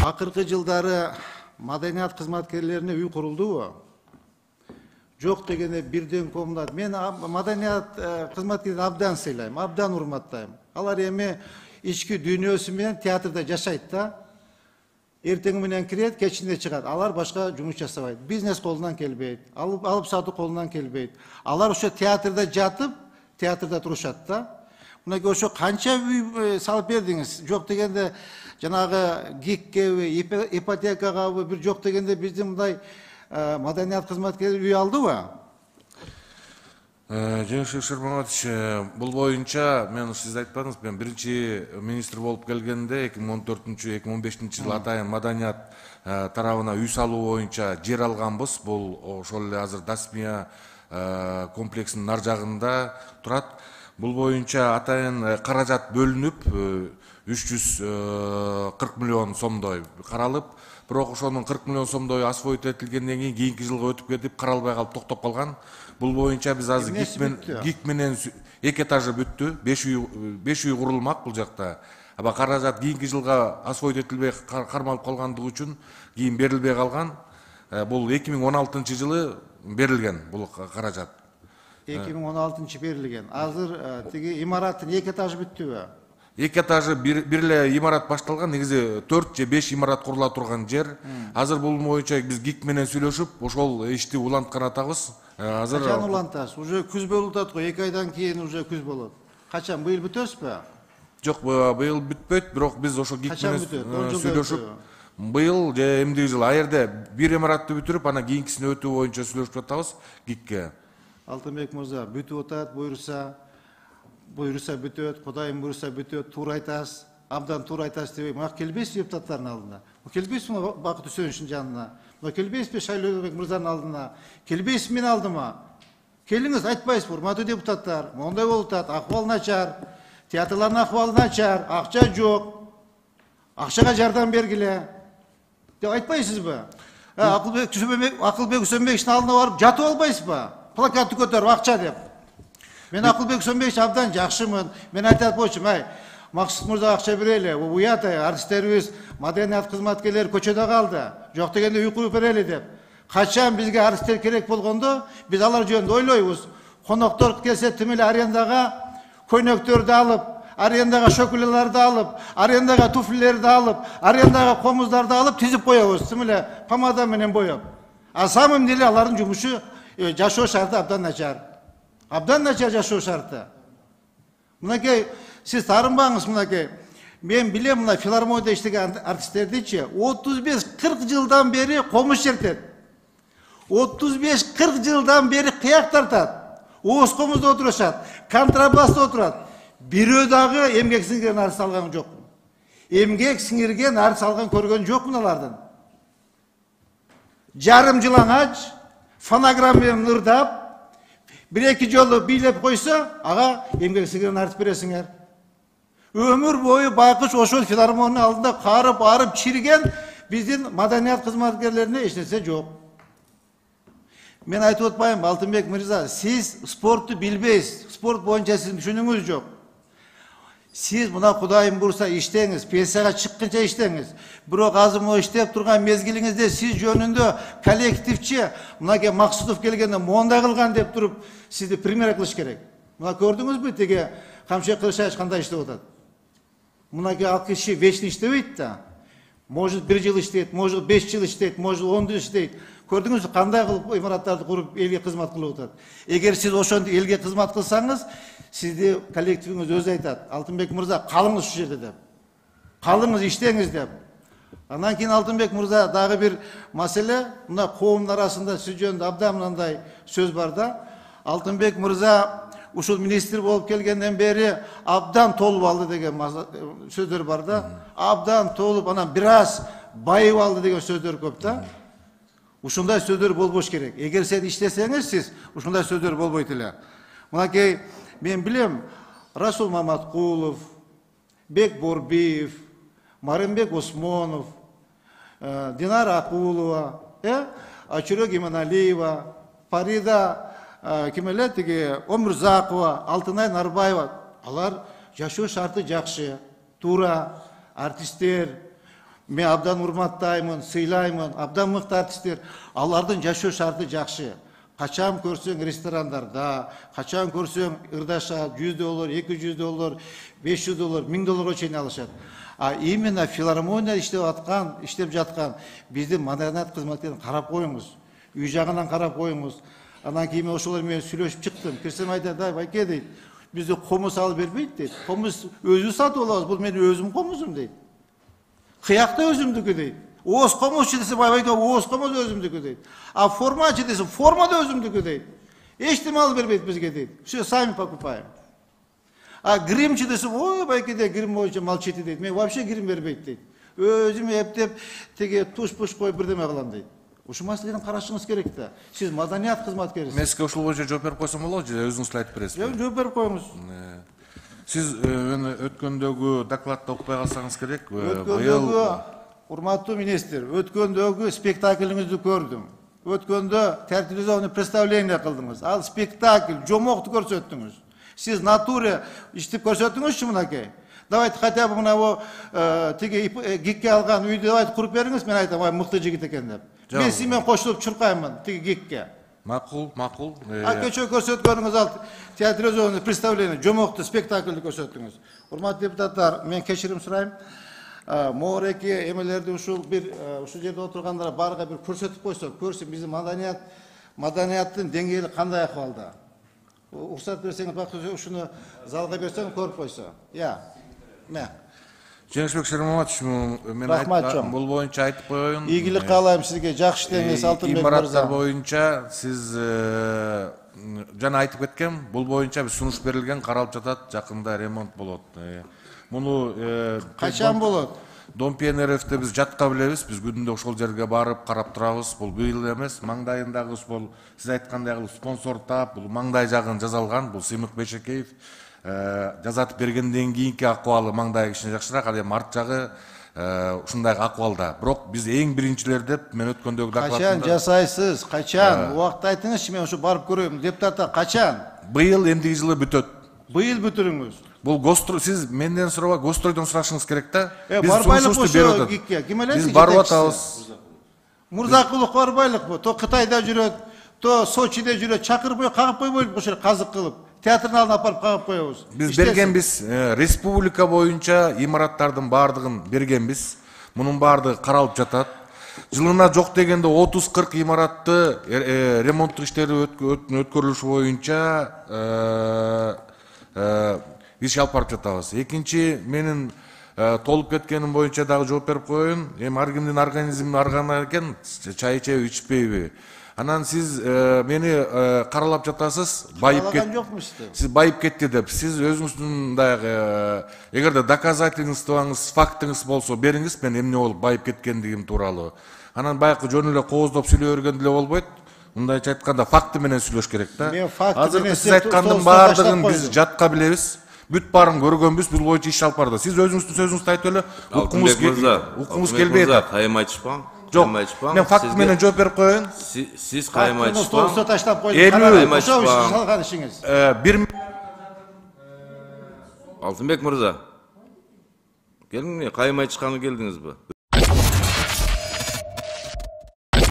Акыркы жылдары маданият кызматкерлерине үй курулдубу? Жок дегенде бирден комнат. Мен маданият кызматкерлерин абдан сыйлайм, абдан урматтайм. Алар эми ички дүйнөсү менен театрда жашайт да. Эртең менен кирет, кечинде чыгат. Алар башка жумуш жасабайт. Бизнес колунан келбейт, алып сатуу колунан келбейт. Алар ошо театрда жатып, театрда турушат да. Мынакей ошо канча үй салып бердиңиз? Жок дегенде жанагы ГИКке, ипотекага бир жок дегенде биздин мындай маданият кызматкерлери үй алдыбы? Жеңишбек Шермаматович, бул боюнча мен сиз айтпадыңыз, мен биринчи министр болуп келгенде 2014-2015 жылы атайын маданият тарабына үй салуу боюнча жер алганбыз. Бул ошол эле азыр Дасмия комплексинин нар жагында турат. Бул боюнча атайын каражат бөлүнүп 340 миллион сомдой каралып, бирок ошонун 40 миллион сомдой освоить этилгенден кийинки жылга өтүп кетип, каралбай калып токтоп калган. Бул боюнча биз азыр ГИК менен 2 этажы бүттү, 5 үй курулмак бул жакта. Аба каражат кийинки жылга освоить этилбей кармалып калгандыгы үчүн кийин берилбей калган. Бул 2016 жылы берилген бул каражат. 2016 берилген. Азыр тиги имараттын 2 этажы бүттүбү? 2 этажы бир эле имарат башталган, негизи 4 же 5 имарат курула турган жер. Азыр бул боюнча биз ГИК менен сүйлөшүп, ошол ишти уланткан атабыз. Азыр качан улантасыз? Уже күз болуп атат го, 2 айдан кийин уже күз болот. Качан, быйыл бүтөсүзбү? Жок, быйыл бүтпөйт, бирок биз ошо ГИК менен сүйлөшүп, быйыл же эмдиги жылы аерде бир имаратты бүтүрүп, анан кийинкисине өтүү боюнча сүйлөшүп атабыз ГИКке. Алтынбек мырза, бүтүп атат, буйруса бүтөт, Кудайым буйруса бүтөт, туура айтасыз, абдан туура айтасыз дебей, мага келбейсизби депутаттардын алдына? Келбейсизби Бакыт Үсөновичтин жанына? Келбейсизби Шайлообек мырзанын алдына? Келбейсизби менин алдыма? Келиңиз, айтпайсызбы, урматтуу депутаттар, мондай болуп атат, акыбал начар, театрлардын акыбалы начар, акча жок, акчага жардам бергиле деп айтпайсызбы? Акылбек Үсөнбековичтин алдына барып жатып албайсызбы? Плакатты көтөрүп акча деп. Мен Акылбек Үсөнбекович абдан жакшымын. Мен айтат болчумун, Максут мырза акча берели, уят артисттерибиз, маданият кызматкерлери көчөдө калды. Жок дегенде үй куруп берели деп. Качан бизге артисттер керек болгондо, биз алар жөнүндө ойлойбуз. Коноктор келсе тим эле арендага көйнөктөрдү алып, арендага шөкүлөлөрдү алып, арендага туфлилерди алып, арендага комуздарды алып тизип коебуз, тим эле помада менен боеп. А самым деле алардын жумушу жашоо шарты абдан начар. Абдан начар жашоо шарты. Мынакей сиз таарынбаңыз, мынакей. Мен билем, мына филармонияда иштеген артисттердичи 35-40 жылдан бери комуш чертет. 35-40 жылдан бери кыяк тартат. Ооз комузда отурушат, контрабаста отурат. Бирөө дагы эмгек сиңирген артист алган жок. Эмгек сиңирген артист алган көргөн жокмун алардын. Жарым жылаңач, фонограмма менен ырдап, бир-эки жолу бийлеп койсо, ага эмгек сиңирген артист бересиңер. Өмүр бою байкуш ошол филармониянын алдында карып, арып, чирген биздин маданият кызматкерлерине эч нерсе жок. Мен айтып атпайм, Алтынбек мырза, сиз спортту билбейсиз, спорт боюнча сиздин түшүнүгүңүз жок. Сиз мына Кудайым буйруса иштеңиз, пенсияга чыкканча иштеңиз. Бирок азыр могу иштеп турган мезгилиңизде сиз жөнүндө коллективчи мынакей Максутов келгенде мондай кылган деп туруп сизди пример кылыш керек. Мына көрдүңүзбү тиги Камшек Кылышбаев кандай иштеп атат? Мынакей ал киши вечно иштебейт да. Может 1 жыл иштейт, может 5 жыл иштейт, может 10 жыл иштейт. Көрдүңүзбү кандай кылып имараттарды куруп элге кызмат кылып атат? Эгер сиз ошондой элге кызмат кылсаңыз, сизди коллективиңиз өзү айтат. Алтынбек мырза, калыңыз ушул жерде деп. Калыңыз, иштеңиз деп. Андан кийин Алтынбек мырза дагы бир маселе, мына коомдун арасында сиз жөнүндө абдан мындай сөз бар да. Алтынбек мырза ушул министр болуп келгенден бери абдан толуп алды деген сөздөр бар да. Абдан толуп, анан бир аз байып алды деген сөздөр көп да. Ушундай сөздөр болбош керек. Эгер сен иштесеңиз, сиз ушундай сөздөр болбойт эле. Мынакей мен билем, Расул Маматкулов, Бек Борбиев, Марымбек Осмонов, Динара Акулова, Ачурек Иманалиева, Фарида Кимелетиги Омурзакова, Алтынай Нарбаева, алар жашоо шарты жакшы, туура, артисттер. Мен абдан урматтаймын, сыйлаймын, абдан мыкты артисттер. Алардын жашоо шарты жакшы. Качан көрсөң ресторандарда, качан көрсөң ырдаша $100, $200, $500, $1000 чейин алышат. А именно филармония иштеп жаткан биздин маданият кызматкерлерин карап коюңуз. Үй жагынан карап коюңуз. Анан кийин ошолор менен сүйлөшүп чыктым. Кирсем айтат, байке дейт, бизде комуз алып бербейт дейт. Комуз өзү сатып алабыз, бул менин өзүм комузум дейт. Кыякта өзүмдүкү дейт. Ооз комузчу десе, байке ооз комуз өзүмдүкү дейт. А формачы десе, форма да өзүмдүкү дейт. Эчтеме алып бербейт бизге дейт. Все сами покупаем. А гримчи десе, ой, байке де грим боюнча молчите дейт. Мен вообще грим бербейт дейт. Өзүм эптеп, теге туш-пуш коюп бирдеме кылам дейт. Ушул маселени карашыңыз керек да. Сиз маданият кызматкерисиз. Мен сизге ушул боюнча жооп берип койсом болобу же өзүңүз айтып бересизби? Жок, жооп берип коюңуз. Сиз өткөндөгү докладты окубай калсаңыз керек. Өткөндөгү, урматтуу министр, өткөндөгү спектаклиңизди көрдүм. Өткөндө театрализованный представление кылдыңыз. Ал спектакль, жомокту көрсөттүңүз. Сиз натуре иштеп көрсөттүңүзчү мынакей. Давайте хотя бы мына тиги гикке алган үйдү давайте куруп бериңиз, мен айтам, ай мыкты жигит экен деп. Мен сиз менен кошулуп чуркаймын тиги гикке. Макул. Кечээ көрсөткөнүңүз ал театрализованный представление, жомокту спектакльди көрсөттүңүз. Урматтуу депутаттар, мен кечирим сурайм. Моореки эмелерди ушул жерде отургандар барга бир көрсөтүп койсок, көрсүн биздин маданияттын деңгээли кандай акыбалда. Уруксат берсеңиз, бакча ушуну залга берсең көрүп койсо. Жеңишбек Шермаматович, мен бул боюнча айтып коеюн. Ийгилик каалайм сизге, жакшы иштеңиз, Алтынбек мырза. Имараттар боюнча сиз жана айтып кеткем, бул боюнча биз сунуш берилген, каралып жатат, жакында ремонт болот. Муну качан болот? Дом пионеровде биз жатка билебиз, биз күндө ошол жерге барып карап турабыз. Бул быйыл эмес, маңдайындагы бул сиз айткандай спонсор тап, бул маңдай жагын жазалган, бул Сыймык Бейшекеев жазатып бергенден кийинки акыбалы маңдай кичине жакшыраак, ал эми арт жагы ушундай акыбалда. Бирок биз эң биринчилер деп мен өткөндөгү докладымда. Качан жасайсыз? Качан? Убакытты айтыңызчы, мен ушу барып көрөйм. Депутаттар качан? Быйыл эмдиги жылы бүтөт. Быйыл бүтүрүңүз. Бул гострой, сиз менден сурабай, гостройдон сурашыңыз керек да. Барбайлык болсо гикке, ким эле? Биз барып атабыз. Мурзакулов барбайлыкпы? То Кытайда жүрөт, то Сочиде жүрөт, чакырбай кагып койбойлуп ошол казык кылып. Театрдын алдына апарып кагып коебуз. Биз бергенбиз, республика боюнча имараттардын баардыгын бергенбиз. Мунун баардыгы каралып жатат. Жылына жок дегенде 30-40 имаратты ремонттук иштери өткөрүлүшү боюнча иш алып барып жатабыз. Экинчи, менин толуп кеткеним боюнча дагы жооп берип коеюн. Эми ар кимдин организми аргана экен, чай ичеби, ичпейби. Анан сиз мени каралап жатасыз, байып кетти. Сиз байып кетти деп. Сиз өзүңүздүн дагы эгерде доказательствоңуз, фактыңыз болсо бериңиз, мен эмне болуп байып кеткендигим тууралуу. Анан байкы жөн эле кооздоп сүйлөй берген деле болбойт. Мындайча айтканда факты менен сүйлөш керек да. Азыркы сиз айткандын баардыгын биз жатка билебиз. Бүт баарын көргөнбүз, бул боюнча иш алып барды. Сиз өзүңүздүн сөзүңүздү айтып эле, уккумуз келбей атат. Кайым айтышпаң. Жок, мен факт менен жооп берип коеюн. Сиз кайым айтышпаң. Столсо таштап койдуңуз. Ошол ишин салган ишиңиз. Алтынбек мырза. Келиңи, кайым айтышканга келдиңизби?